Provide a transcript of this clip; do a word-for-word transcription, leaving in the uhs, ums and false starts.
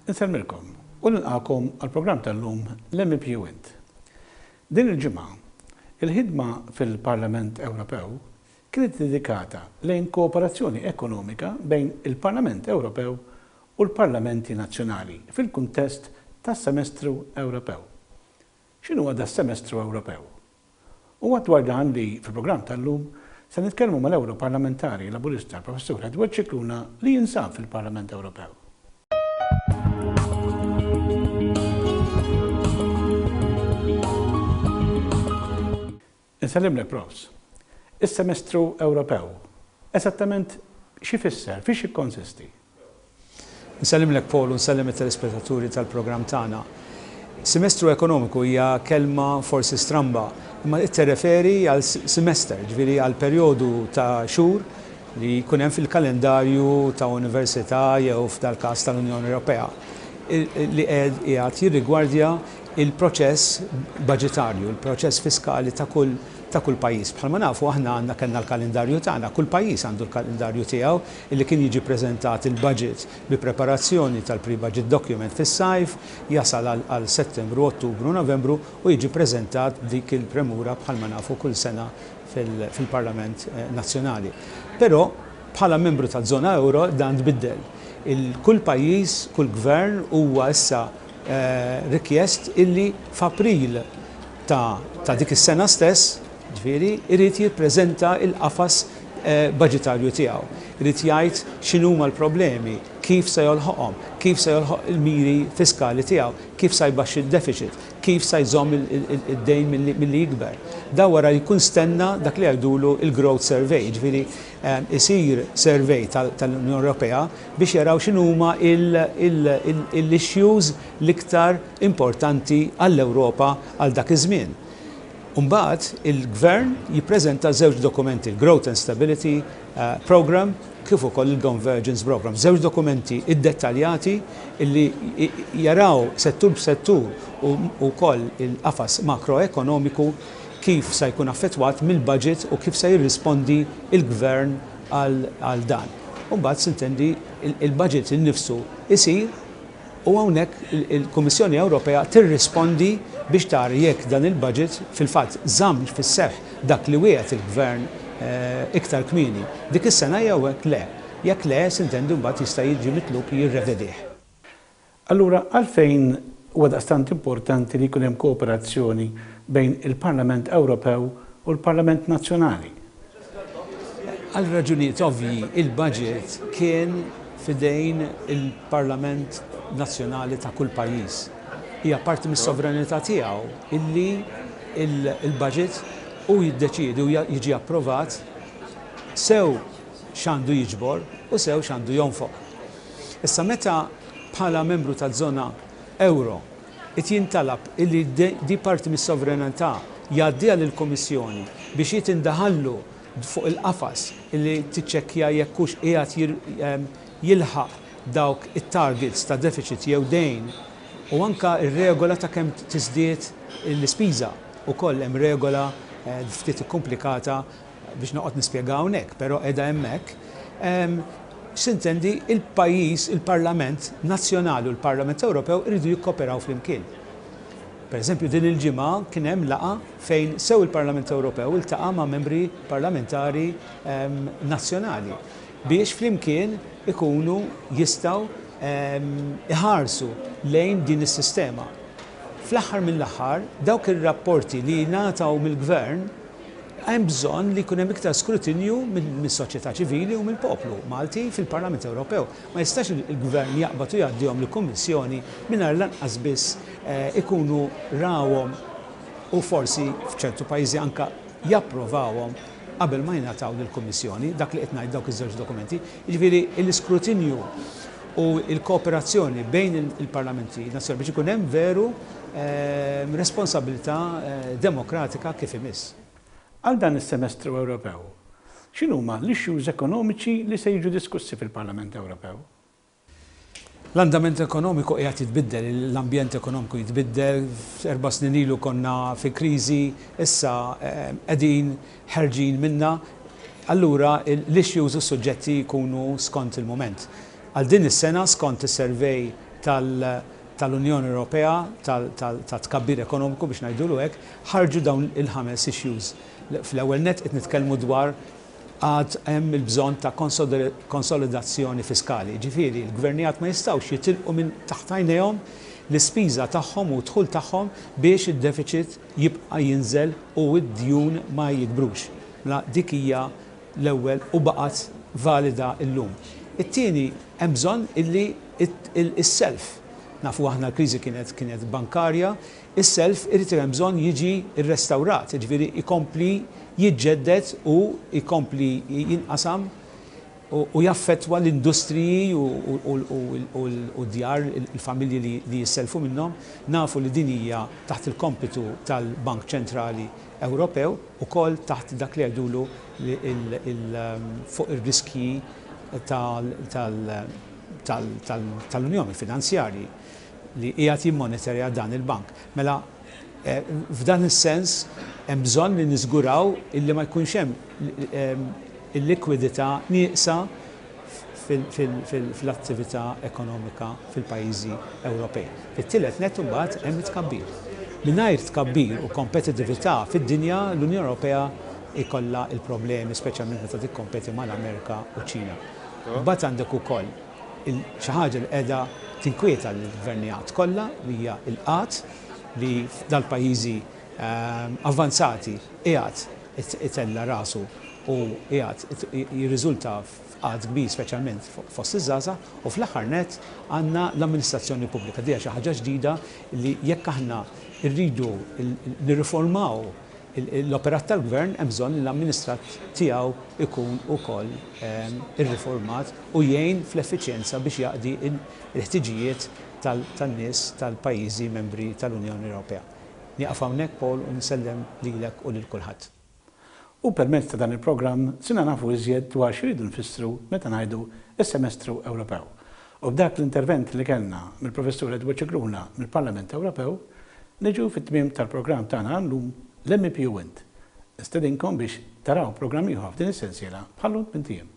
Insellmilkom u nilqagħkom għall-programm tal-lum l-M E P u Int. Din il-ġimgħa, il-ħidma fil-Parlament Ewropew kienet dedikata lejn kooperazzjoni ekonomika bejn il-Parlament Ewropew u l-Parlamenti Nazzjonali fil-kuntest tas-Semestru Ewropew. X'inhu das-Semestru Ewropew? U dwar dan li fil-programm tal-lum se nitkellmu mal-Ewroparlamentari Laburista Professur Edward Scicluna li jinsab fil-Parlament Ewropew. Insellimlek, Profs. Is-Semestru Ewropew, esattament x'ifisser, fiex jikkonsisti? Nsellimlek, Paul, u nsellem it-telespettaturi tal-programm tagħna. Semestru ekonomiku hija kelma forsi stramba, imma tirreferi għal semester, ġifieri għal perjodu ta' xhur li jkun hemm fil-kalendarju ta' università jew f'dal każ tal-Unjoni Ewropea li qiegħed jirrigwardja il-proċess budgetarju, il-proċess fiskali ta' kull ta' kull pajjiż. Bħalma nafu aħna għandna kellna l-kalendarju tagħna, kull pajjiż għandu l-kalendarju tiegħu illi kien jiġi preżentat il-budget bi preparazzjoni tal-pre-budget document fis-sajf, jasal għal Settembru, Ottubru, Novembru u jiġi preżentat dik il-premura bħalma nafu kull sena fil-Parlament eh, Nazzjonali. Però bħala membru tal-żona euro dan tbiddel. Kull pajjiż, kull gvern huwa issa eh, rikjest illi f'April ta', ta dik is-sena stess, ġifieri, irid jippreżenta il-qafas eh, budgetarju tiegħu. Irid jgħid x'inhuma l-problemi, kif se jolħoqhom, kif se jolħoq il-miri fiskali tiegħu, kif se jbaxxi il-deficit, kif se jżomm id-dejn milli jikber. Da wara jkun stenna dak li jgħidulu il-growth survey, ġifieri eh, isir survey tal-Unjoni Ewropea biex jaraw x'inhuma l-issues l-iktar importanti għall-Ewropa għal dak iż-żmien. Umbagħad il-gvern jippreżenta żewġ dokumenti, il-Growth and Stability uh, Program kif ukoll il-Convergence Program. Żewġ dokumenti iddettaljati illi jaraw settur b'settur u wkoll il-qafas makroekonomiku kif se jkun affettwat mill-budget u kif se jirrispondi il-gvern għal dan. Umbagħad sintendi il-budget innifsu isir u hawnhekk il-Kummissjoni Ewropea tirrispondi biex tara jekk dan il-budget fil-fatt żamm fis-seħħ dak li wiegħed il-gvern eh, iktar kmieni dik is-sena jew hekk le. Jekk le, sintendi mbagħad jista' jiġi mitlub jirrevedih. Allura, għalfejn huwa daqstant importanti li jkun hemm kooperazzjoni bejn il-Parlament Ewropew u l-Parlament Nazzjonali? Għal raġunijiet ovvji, il-budget kien f'idejn il-Parlament Nazzjonali ta' kull pajjiż. Hija parti mis-sovranità tiegħu illi il-budget u jiddeċiedi u jiġi approvat sew x'għandu jiġbor u sew x'għandu jonfoq. Issa, meta bħala membru tal-żona euro it jintalab illi di parti mis-sovranità jgħaddiha lill-Kummissjoni biex jitindaħallu fuq il-qafas illi tiċċekkja jekk hux qiegħed jilħaq dawk it-targets ta' deficit jew dejn u anka ir-regola ta' kemm tiżdied l-ispiża. Ukoll hemm regola eh, ftit komplikata biex noqgħod nispjega hawnhekk, però qiegħda hemmhekk. Sintendi il-pajjiż, il-Parlament Nazzjonali u l-Parlament Ewropew iridu jikkoperaw flimkien. Per eżempju, din il-ġimgħa kien hemm laqgħa fejn sew il-Parlament Ewropew iltaqa' ma' membri parlamentari nazzjonali biex flimkien ikunu jistgħu iħarsu lejn din is-sistema. Fl-aħħar mill-aħħar, dawk ir-rapporti li ngħataw mill-gvern hemm bżonn li jkun hemm iktar skrutinju mis-soċjetà ċivili u mill-poplu Malti fil-Parlament Ewropew. Ma jistax il-gvern jaqbad u jgħaddihom lill-Kummissjoni mingħajr lanqas biss eh, ikunu rawhom u forsi f'ċertu pajjiżi anka japprovawhom qabel ma jingħataw lill-Kummissjoni, dak li qed ngħid dawk iż-żewġ dokumenti. Jiġifieri l-iskrutinju u l-kooperazzjoni bejn il-parlamenti nazzjonali biex ikun hemm veru eh, responsabilità eh, demokratika kif imiss. Għal dan is-Semestru Ewropew, x'inhuma l-issues ekonomiċi li se jiġu diskussi fil-Parlament Ewropew? L-andament ekonomiku qiegħed jitbiddel, l-ambjent ekonomiku jitbiddel, erba' snin ilu konna fi kriżi, issa eh, qegħdin ħerġin minna, allura l-issues u s-suġġetti jkunu skont il-moment. Għal din is-sena, skont is-survey tal-Unjoni Ewropea, tal-tkabbir ekonomiku biex ngħidulu hekk, ħarġu dawn il-ħames issues. Fl-ewwel net qed nitkellmu dwar għad hemm il-bżonn ta' konsolidazzjoni fiskali. Ġifieri, l-gvernijiet ma jistgħux jitilqu minn taħt għajnejhom l-ispiża tagħhom u dħul tagħhom biex id-deficit jibqa' jinżel u d-djun ma jikbrux. Mela dik hija l-ewwel u baqgħet valida llum. It-tieni, hemm bżonn illi is-self, nafu aħna l-kriżi kienet kienet bankarja, is-self irid hemm bżonn jiġi rrestawrat, jiġifieri ikompli jiġġedded u jkompli jinqasam u jaffettwa l-industriji u djar il-familji li jisselfu minnhom. Nafu li din hija taħt il-kompitu tal-Bank Ċentrali Ewropew ukoll taħt dak li jgħidulu fuq ir-riskji tal-Unjoni Finanzjarji li qiegħed jimmonitorja dan il-bank. Mela f'dan is-sens hemm bżonn li niżguraw illi ma jkunx hemm il-likwidità nieqsa fil-attività ekonomika fil-pajjiżi Ewropej. Fit-tielet net imbagħad hemm it-tkabbir. Mingħajr tkabbir u kompetitività fid-dinja, l-Unjoni Ewropea ikollha il-problemi, speċjalment meta tikkompeti mal-Amerika u Ċina. Mbagħad għandek ukoll xi ħaġa li qiegħda tinkwieta l-gvernijiet kollha, li hija l-qgħad li dal-pajjiżi avvanzati qiegħed itella rasu u qiegħed jirriżulta f'qgħad kbir, speċjalment fost iż-żgħażagħ. U fl-aħħar net għandna l-amministrazzjoni pubblika. Dija xi ħaġa ġdida li jekk aħna rridu nirriformaw l-operat tal-gvern, hemm bżonn li l-amministrat tiegħu ikun ukoll irriformat u jgħin fl-effiċjenza biex jaqdi l-ħtiġijiet tan-nies tal-pajjiżi membri tal-Unjoni Ewropea. Nieqaf hawnhekk, Paul, u nsellem lilek u lil kulħadd. U permezz ta' dan il-programm sirna nafu iżjed dwar x'iridu nfissru meta ngħidu is-Semestru Ewropew. U b'dak l-intervent li kellna mill-Professur Edward Scicluna mill-Parlament Ewropew, niġu fit-tmiem tal-programm tagħna llum, l-M E P u Int. Nistedinkom biex taraw programm ieħor f'din is-sensiela bħal-lum tmint ijiem.